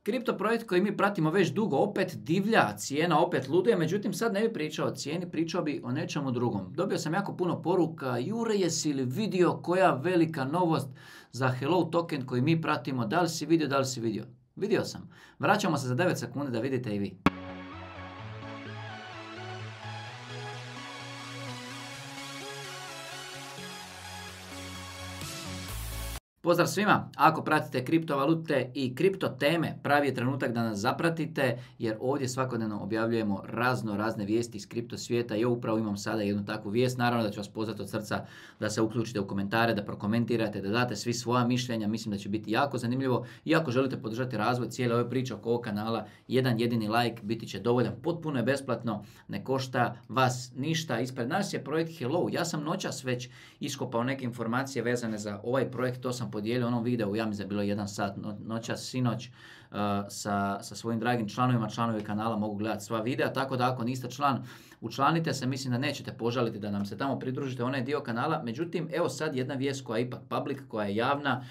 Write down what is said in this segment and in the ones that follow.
Kripto projekt koji mi pratimo već dugo, opet divlja, cijena opet luduje, međutim sad ne bi pričao o cijeni, pričao bi o nečemu drugom. Dobio sam jako puno poruka, Jure, jesi li vidio koja velika novost za Hello token koji mi pratimo, da li si vidio, da li si vidio? Vidio sam. Vraćamo se za 9 sekundi da vidite i vi. Pozdrav svima! Ako pratite kriptovalute i kripto teme, pravi je trenutak da nas zapratite jer ovdje svakodnevno objavljujemo razne vijesti iz kripto svijeta i ja upravo imam sada jednu takvu vijest. Naravno da ću vas pozvati od srca da se uključite u komentare, da prokomentirate, da date svi svoja mišljenja. Mislim da će biti jako zanimljivo i ako želite podržati razvoj cijele ove priče oko ovog kanala, jedan jedini like biti će dovoljan. Potpuno je besplatno, ne košta vas ništa. Ispred nas je projekt Hello. Ja sam noćas već iskopao neke informacije vezane za ovaj projekt, to sam podijelio onom videu, ja mislim da je bilo 1 sat noćas, sinoć, sa svojim dragim članovima. Članovi kanala mogu gledati sva videa, tako da ako niste član, učlanite se, mislim da nećete požaliti da nam se tamo pridružite, onaj dio kanala. Međutim, evo sad jedna vijest koja je ipak public, koja je javna,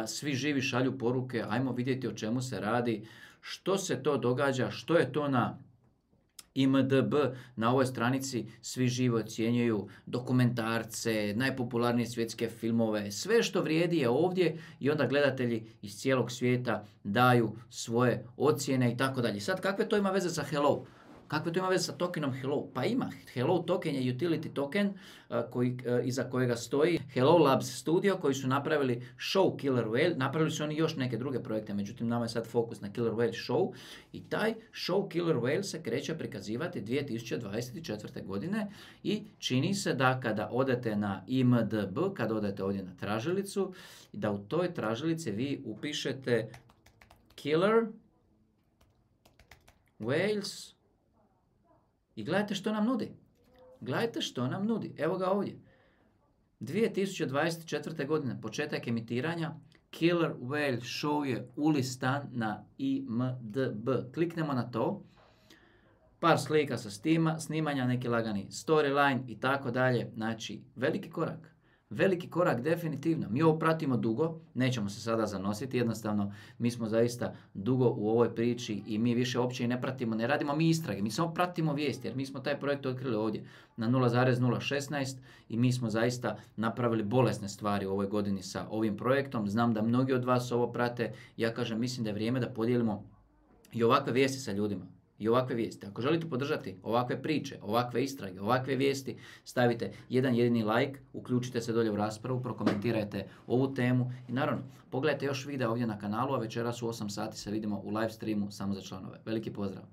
svi živi šalju poruke, ajmo vidjeti o čemu se radi, što se to događa, što je to na IMDb. Na ovoj stranici svi živo ocjenjuju dokumentarce, najpopularnije svjetske filmove, sve što vrijedi je ovdje i onda gledatelji iz cijelog svijeta daju svoje ocjene i tako dalje. Sad, kakve to ima veze sa Hello? Kakve to ima veze sa tokenom Hello? Pa ima. Hello token je utility token iza kojega stoji Hello Labs Studio koji su napravili show Killer Whale. Napravili su oni još neke druge projekte, međutim nama je sad fokus na Killer Whale show. I taj show Killer Whale se kreće prikazivati 2024. godine i čini se da kada odete na IMDb, kada odete ovdje na tražilicu, da u toj tražilici vi upišete Killer Whales i gledajte što nam nudi. Gledajte što nam nudi. Evo ga ovdje. 2024. godine, početak emitiranja, Killer Whale Show je ulistan na IMDb. Kliknemo na to. Par slika sa snimanja, neki lagani storyline i tako dalje. Znači, veliki korak. Veliki korak definitivno. Mi ovo pratimo dugo, nećemo se sada zanositi, jednostavno mi smo zaista dugo u ovoj priči i mi više uopće i ne pratimo, ne radimo mi istrage, mi samo pratimo vijesti jer mi smo taj projekt otkrili ovdje na 0,016 i mi smo zaista napravili bolesne stvari u ovoj godini sa ovim projektom. Znam da mnogi od vas ovo prate, ja kažem mislim da je vrijeme da podijelimo i ovakve vijesti sa ljudima. I ovakve vijesti. Ako želite podržati ovakve priče, ovakve istrage, ovakve vijesti, stavite jedan jedini like, uključite se dolje u raspravu, prokomentirajte ovu temu i naravno, pogledajte još videa ovdje na kanalu, a večeras u 8 sati se vidimo u live streamu samo za članove. Veliki pozdrav!